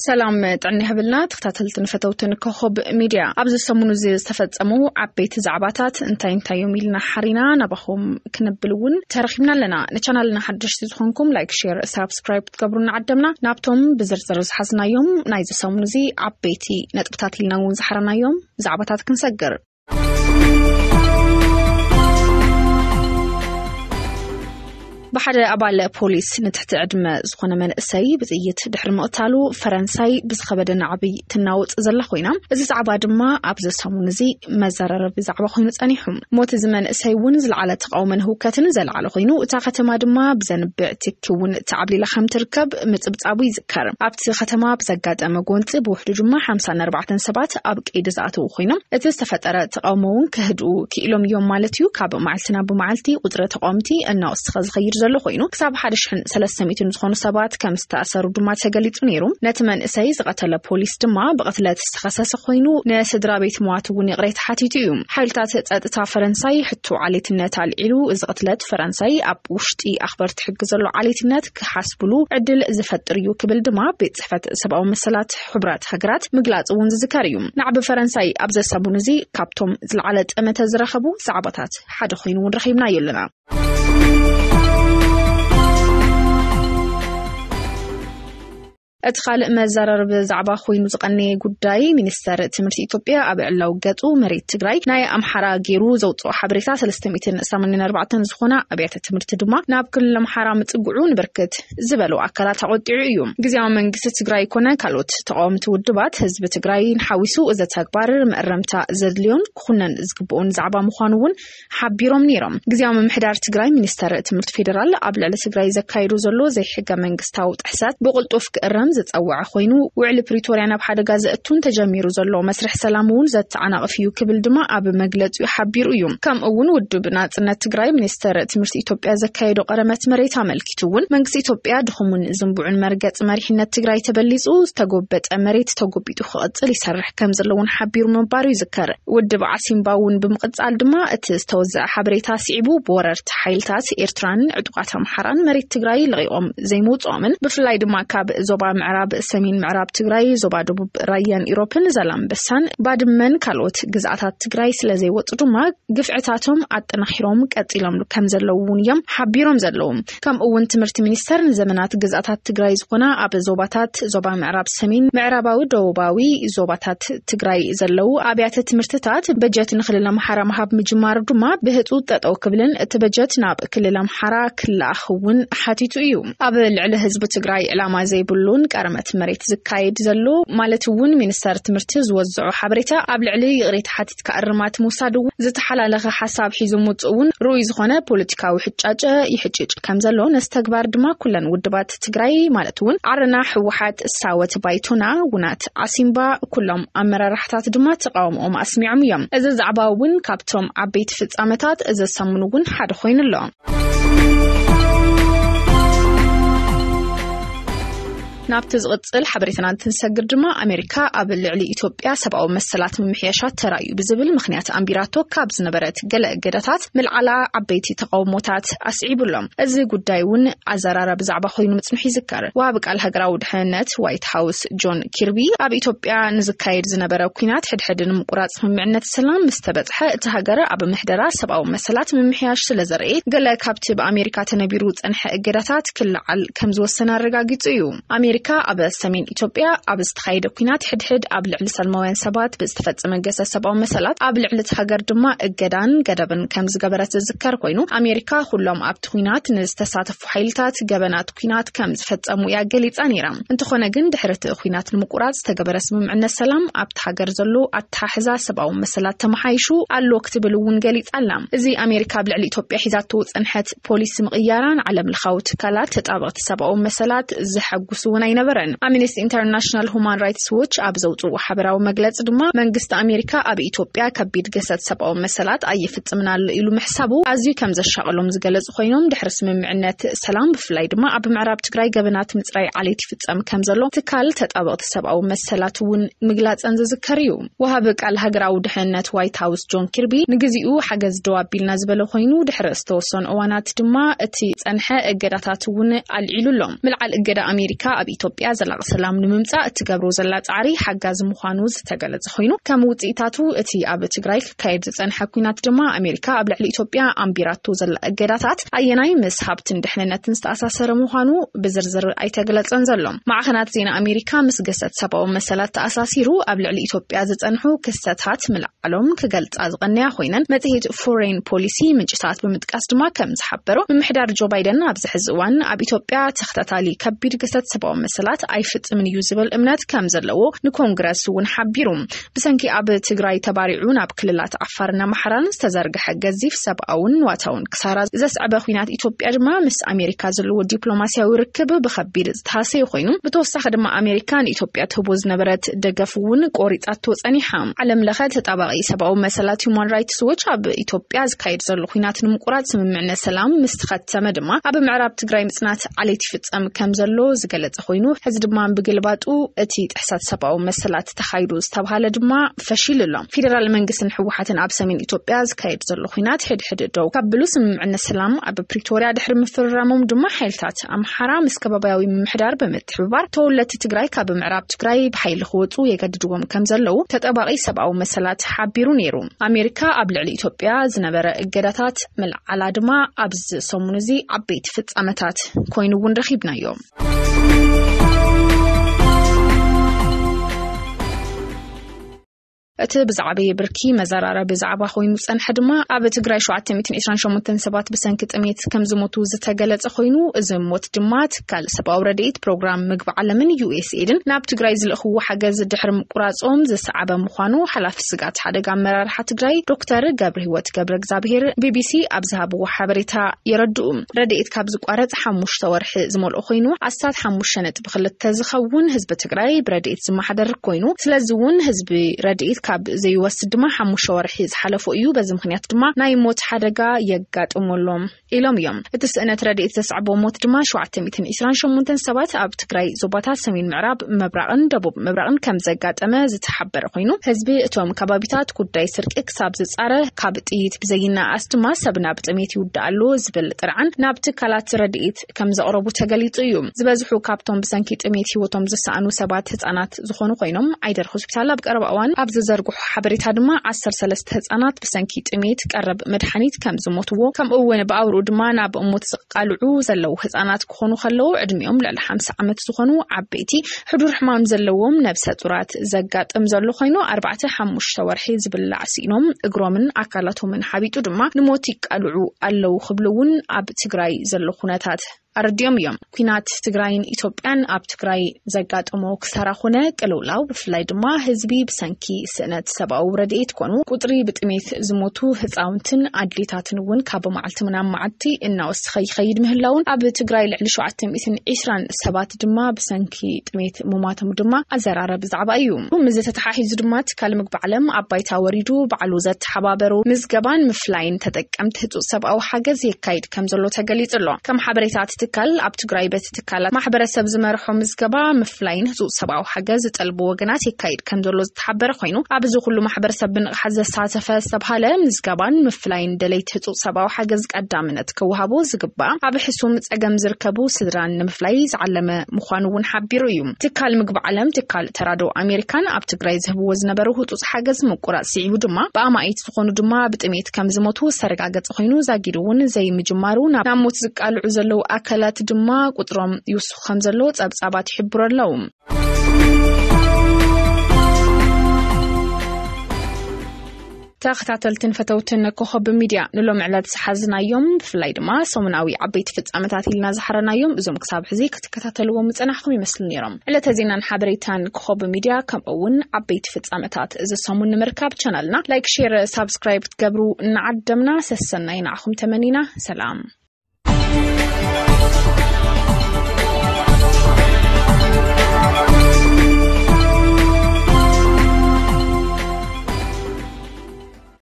سلام تعني هبلنا تختاتلت نفتوتن كخب ميديا أبز السمون زي استفدسمو عبيت زعباتات انتا يوميلنا حرينا نبخم كنبلون ترخيبنا لنا نشانلنا حدش تزخونكم لايك شير سابسكرايب تقبرون عدمنا نابتم بزرزرز حزنا يوم نايز السمون زي عبيتي نتبتات لنا ونزحرنا يوم زعباتات كنسجر بحد أبال بوليس نتحت عدم زخنا من السي بزيت دحر مقتالو فرنساي بزخبدنا عبي تناوت زلا خوينا إذا زعبا ما أبز السمون زي مزرر بزعبا خوينو تانيهم موت زمن السي ونزل على تقاومن هو كتنزل على خوينو تاختما دما بزنبع تكون تعبلي لخم تركب متبصابو يذكر أبت ختما بزقات أما قونت بوحد جمع 54 سبات أبك إدزاتو خوينا إذا استفتر تقاومون كهدو كيلوم يوم مالتيو كاب معلتنا بمعلتي قدرة تقاومتي أنه استخذ غير زلو خوينو كساب حدشحن 300 زخون سبات كم استأثروا دما تغليص نيرو نتمن اسايز قتل بوليس دما بقتلات استخصاص خوينو نسدرا بيت مواتون يقريت حاتيتيوم حيلتات صدتا فرنساي حتو عليتنات العلو از قتلت فرنساي اب وشتي اخبار تحجزلو عليتنات كحسبلو عدل زفتريو كبل دما بيت صحفت سبعو مسلات حبرات هجرات مغلاص ونز ذكريوم نعب فرنساي ابز سابونزي كابتوم زلعلت امته زرخبو صعبات حد خوينو نرخيبنا يلنا أدخل مزرر بزعبا خوينو زقني قداي منستر تمرت إثيوبيا أبعلاو قطو مريت تግራይ ناي أمحرا جيرو زوطو حبريتا 384 زخونا أبيات تمرت دما ناب كل أمحرا متقعو نبركت زبلو أكلات عودعيو جزيا منقسة تግራይ كونا كالوت تقاوم تودبات هزب تግራይ نحاوسو إذا تكبار مقرمتا زدليون كونن زقبون زعبا مخانوون حبيروم نيرم جزيا ممحدار تግራይ منستر تمرت فيدرال أبلع لتግራይ زكايدو زلو زي حقا منقستاو تحسات بقلطوف كقرم زتصوع خوينو وعلى بريتوريا ناب حدا غازتون تجميرو زلو مسرح سلامون زتعنا قفيو كبل دما اب مغلط يحبيرو يوم كم اون ودبنا صنت تግራይ منستر تمرت إثيوبيا زكايدو قرمت مريت عملكتون منقس إثيوبيا دخمون زنبوعن مرغص مريحነት تግራይ تبليصو استغوبت مريت تغوبيتو خقصل يسرح كم زلون حبيرو منبارو يذكر ودب عسيمباون بمقصال دما استوزع حبريتا سيبو بوررت حيلتات إيرتران عدقات محران مريت تግራይ لغيوم زيموصومن بفلاي دما كاب زوبا معراب سمين معراب تግራይ زوبا دبوب رايان إيروبن زلام بسان بادمن كالوت جزعات تግራይ سلازي وطدما قفعتاتهم أطنخيروم قتيلم كم زلوون يم حبيروم زلوم كم اون تمرت منستر زمنات جزعات تግራይ زخنا اب زوباتات زوبا معراب سمين معراباوي دوباوي زوباتات تግራይ زلو ابيات تمرتات بجت نخلل محرا محاب مجمار دما بهطو ططو كبلن تبجت ناب كلل محرا كل اخون حاتيتو يوم اب العل حزب تግራይ علامه زي بلون قرمت مريت زكايد زلو مالتون منستر تمرت زوزعو حبريتا اب لعلي غريت حاتيت كارمات موسادو زتحلالخ حساب حيزو مصون روي زخونه بوليتيكاوي حጫጨ يحጭጭ كم زلو نستكبار دما كلن ودبات تግራይ مالتون عرنا حوحات الساوت بايتونا ونات عسيمبا كلهم امرارحتات دما تقاومهم اسمعهم يم اذا زعباون كابتوم عبيت فصامتات اذا سمنون حد خوينلو نابتز قصل حبريتنا تنسجر دما أمريكا قبل على إثيوبيا 7 مسلات ممحيشات ترايو بزبل مخنيات أمبيراتو كابز نبرت قلق قدتات ملعلا عبيتي تقاوموتات أسعيب لهم أزي قدايون عزرارة بزعبا خوينو متسمحي ذكر وابق على هقراود حنات وايت هاوس جون كيربي أب إثيوبيا نزكايد زنبرا وكينات حد مقرات من معنات السلام مستبدحة تهجرة أب محدرة 7 مسلات ممحياش سلزرقيت قلق كابتب أمريكا تنبيروت أنحى قدتات كل على كمز والسنة رقاقيت أمريكا أب سمين إثيوبيا أب استخايد كينات حد أب لعل سلموين سبات باستفادة من جسد 7 مسلات أب لعل هجر دما الجدان جدبن كمز جبرت الذكر كوينو أمريكا كلهم أب كينات نستساتف حيلتات جبنات كينات كمز فتأمو يا جليت أنيرام أنت خونا جند حرت كينات المقرات استجبر اسم عنا السلام أب هجر زلو أتحزا 7 مسلات تمحيشو على وقت بلون جليت ألم زي أمريكا بلعل إثيوبيا حزات توت أنحت بوليس مغيران على الخوت كلات تطابقت 7 مسلات زحقسونا ينبرن Amnesty International Human Rights Watch أبزوتو وحبراو مجلس دما منجست أمريكا أبي إثيوبيا كبيد جسد 7 مسلات أي فتمنا إلو محسابو أزي كم زشغلهم زجلز خوينهم دحرس من معنات سلام بفلاي دما أب معراب تግራይ جبنات متراي عليتي فتم كم زلو تكال تطابقت 7 مسلات ون مجلس أنز ذكريو وهابك على هجراو دحنات وايت هاوس جون كيربي نجزيو حجز دوابيل نزبلو خوينو دحرس توصن أوانات دما تي تنحى الجراتات ون العلولهم ملعل الجرا أمريكا أبي ኢትዮጵያ ዘላቂ ሰላም ንምምጻእ እትገብሮ ዘላ ጻዕሪ ሓጋዝ ምዃኑ ዝተገለጸ ኮይኑ ከም ውጽኢታቱ እቲ ኣብ ትግራይ ካይድ ዝጸንሐ ኩናት ድማ ኣሜሪካ ኣብ ልዕሊ ኢትዮጵያ ኣምቢራቶ ዘላ እገዳታት ኣየናይ ምስ ሃብትን ድሕነነትን ዝተኣሳሰረ ምዃኑ ብዝርዝር ኣይተገለጸን ዘሎ ማዕኸናት ዜና ኣሜሪካ ምስ ገሰት ሰብኣዊ መሰላት ተኣሳሲሩ ኣብ ልዕሊ ኢትዮጵያ ዝጸንሑ ክስተታት ምልዓሎም ክገልጻ ዝቐነያ ኮይነን መጽሔት ፎሬን ፖሊሲ ምንጭታት ብምጥቃስ ድማ ከም ዝሓበሮ ምምሕዳር ጆ ባይደን ኣብ ዝሕዚ እዋን ኣብ ኢትዮጵያ ተኸታታሊ ከቢድ ገሰት ሰብኣዊ መሰላት ኣይፍጽምን እዩ ዝብል እምነት ከም ዘለዎ ንኮንግረስ እውን ሓቢሩ ብሰንኪ ኣብ ትግራይ ተባሪዑ ናብ ክልላት ዓፋርና ኣምሓራን ዝተዘርግሐ ገዚፍ ሰብኣውን ዋታውን ክሳራ ዘስዕበ ኩናት ኢትዮጵያ ድማ ምስ ኣሜሪካ ዘለዎ ዲፕሎማስያዊ ርክብ ብኸቢድ ዝተሃሰየ ኮይኑ ብተወሳኺ ድማ ኣሜሪካ ንኢትዮጵያ ትህቦ ዝነበረት ደገፍ እውን ቆሪጣቶ ጸኒሓ ዓለም ለኸ ተጣባቂ ሰብኣዊ መሰላት ሁማን ራይትስ ዎች ኣብ ኢትዮጵያ ዝካየድ ዘሎ ኩናት ንምቁራጽ ስምምዕነት ሰላም ምስ ተኸተመ ድማ ኣብ ምዕራብ ትግራይ ምጽናት ዓሌት ይፍጸም ከም ዘሎ ዝገለጸ ኮይኑ ሕዚ ድማ ብግልባጡ እቲ ጥሕሳት ሰብኣዊ መሰላት ተኻይዱ ዝተባሃለ ድማ ፈሺሉ ኣሎ ፌደራል መንግስትን ሕወሓትን ኣብ ሰሜን ኢትዮጵያ ዝካየድ ዘሎ ኩናት ሕድሕድ ደው ካብሉ ስምምዕነት ሰላም ኣብ ፕሪቶሪያ ድሕሪ ምፍራሞም ድማ ሓይልታት ኣምሓራ ምስ ከባቢያዊ ምምሕዳር ብምትሕብባር ተወለድቲ ትግራይ ካብ ምዕራብ ትግራይ ብሓይሊ ክወጹ የገድድዎም ከም ዘለው ተጠባቂ ሰብኣዊ መሰላት ሓቢሩ ነይሩ ኣሜሪካ ኣብ ልዕሊ ኢትዮጵያ ዝነበረ እገዳታት መልዓላ ድማ ኣብዚ ሰሙን እዚ ዓበይቲ ፍጻመታት ኮይኑ እውን ረኺብናዮም እቲ ብዛዕባ ብርኪ መዘራረብ ብዛዕባ ኮይኑ ጸንሐ ድማ ኣብ ትግራይ 728 ሰባት ብሰንኪ ጥሜት ከም ዝሞቱ ዝተገለጸ ኮይኑ እዚ ሞት ድማ ትካል ሰብኣዊ ረድኤት ፕሮግራም ምግቢ ዓለምን USAIDን ናብ ትግራይ ዝልእኽዎ ሓገዝ ድሕሪ ምቁራጾም ዝሰዓበ ምዃኑ ሓላፊ ስጋት ሓደጋ ኣመራርሓ ትግራይ ዶክተር ገብረህይወት ገብረ እግዚአብሔር BBC ኣብ ዝሃብዎ ሓበሬታ የረድኡ ረድኤት ካብ ዝቋረጽ 5 ወርሒ ዝመልኦ ኮይኑ ኣሳት 5.2 ዝኸውን ህዝቢ ትግራይ ብረድኤት ዝመሓደር ኮይኑ ስለዚ እውን ህዝቢ ረድኤት ካብ ዘይወስድ ድማ 5 ወርሒ ዝሓለፈ እዩ በዚ ምኽንያት ድማ ናይ ሞት ሓደጋ የጋጥመሎም ኢሎም እዮም እቲ ስእነት ረድኤት ዘስዓቦ ሞት ድማ 728 ሰባት ኣብ ትግራይ ዞባታት ሰሜን ምዕራብ ምብራቕን ደቡብ ምብራቕን ከም ዘጋጠመ ዝተሓበረ ኮይኑ ህዝቢ እቶም ከባቢታት ጉዳይ ስርቂ ክሳብ ዝጻረ ካብ ጥይት ብዘይናኣስ ድማ ሰብ ናብ ጥሜት ይውዳኣሉ ዝብል ጥርዓን ናብ ትካላት ረድኤት ከም ዘቕረቡ ተገሊጹ እዩ ዝበዝሑ ካብቶም ብሰንኪ ጥሜት ህይወቶም ዝሰኣኑ ሰባት ህጻናት ዝኾኑ ኮይኖም ዓይደር ሆስፒታል ኣብ ቀረባ እዋን ኣብ ዝዘርግሑ ሓበሬታ ድማ 13 ህጻናት ብሰንኪ ጥሜት ቀረብ መድሓኒት ከም ዝሞትዎ ከምኡውን ብኣውርኡ ድማ ናብ እሞት ዝቃልዑ ዘለው ህጻናት ክኾኑ ከለው ዕድሚኦም ልዕሊ 50 ዓመት ዝኾኑ ዓበይቲ ሕዱር ሕማም ዘለዎም ነብሰ ጡራት ዘጋጥም ዘሎ ኮይኑ 4-5 ወርሒ ዝብላዕ ሲኖም እግሮምን አካላቶምን ሓቢጡ ድማ ንሞት ይቃልዑ ኣለው ክብሉውን ኣብ ትግራይ ዘሎ ኩነታት ኣርድዮም እዮም ኩናት ትግራይን ኢትዮጵያን ኣብ ትግራይ ዘጋጥሞ ክሳራ ኾነ ቅልውላው ብፍላይ ድማ ህዝቢ ብሰንኪ ስእነት ሰብኣዊ ረድኤት ኮኑ ቁጥሪ ብጥሜት ዝሞቱ ህፃውንትን ኣድሊታትን እውን ካብ መዓልቲ ምናብ መዓልቲ እናወስኸ ይኸይድ ምህላውን ኣብ ትግራይ ልዕሊ 720 ሰባት ድማ ብሰንኪ ጥሜት ምማቶም ድማ ኣዘራረብ ዛዕባ እዩ ምዝ ተተሓሒዙ ድማ ትካል ምግቢ ዓለም ኣባይታ ወሪዱ በዓሉ ዘተሓባበሩ ምዝገባን ምፍላይን ተጠቀምቲ ህፁፅ ሰብኣዊ ሓገዝ የካይድ ከም ዘሎ ተገሊጹ ኣሎ ከም ሓበሬታት ትካል ኣብ ትግራይ በት ትካላት ማሕበረሰብ ዝመርሖ ምዝገባ ምፍላይን ህፁፅ ሰብኣዊ ሓገዝ ዝጠልቡ ወገናት የካይድ ከም ዘሎ ዝተሓበረ ኮይኑ ኣብዚ ኩሉ ማሕበረሰብ ብንቕሓት ዘሳተፈ ዝተብሃለ ምዝገባን ምፍላይን ደለይቲ ህፁፅ ሰብኣዊ ሓገዝ ቀዳምነት ክወሃቦ ዝግባእ ኣብ ሕሱም ፀገም ዝርከቡ ስድራን ንምፍላይ ዝዓለመ ምዃኑ እውን ሓቢሩ እዩ ትካል ምግቢ ዓለም ትካል ተራድኦ ኣሜሪካን ኣብ ትግራይ ዝህብዎ ዝነበሩ ህፁፅ ሓገዝ ምቁራጽ ሲዒቡ ድማ ብኣማኢት ዝኾኑ ድማ ብጥሜት ከም ዝሞቱ ዝተረጋገፀ ኮይኑ ዛጊዱ እውን ዘይምጅማሩ ናብ ሞት ዝቃልዑ ዘለው አካላት ድማ ቁጥሮም ይውስኹ ከም ዘሎ ጸብጻባት ይሕብሩ ኣለው ተኸታተልትን ፈተውትን ኮኸብ ሚድያ ንሎም ዕለት ዝሓዝናዮም ብፍላይ ድማ ሰሙናዊ ዓበይቲ ፍጻመታት ኢልና ዝሓረናዮም እዞም ክሳብ ሕዚ ክትከታተልዎም ምጽናሕኩም ይመስል ነይሮም ዕለተ ዜናን ሓበሬታን ኮኸብ ሚድያ ከምኡውን ዓበይቲ ፍጻመታት ዝሰሙን ንምርካብ ቻናልና ላይክ ሼር ሳብስክራይብ ትገብሩ እናዓደምና ሰሰናይ ንዓኹም ተመኒና ሰላም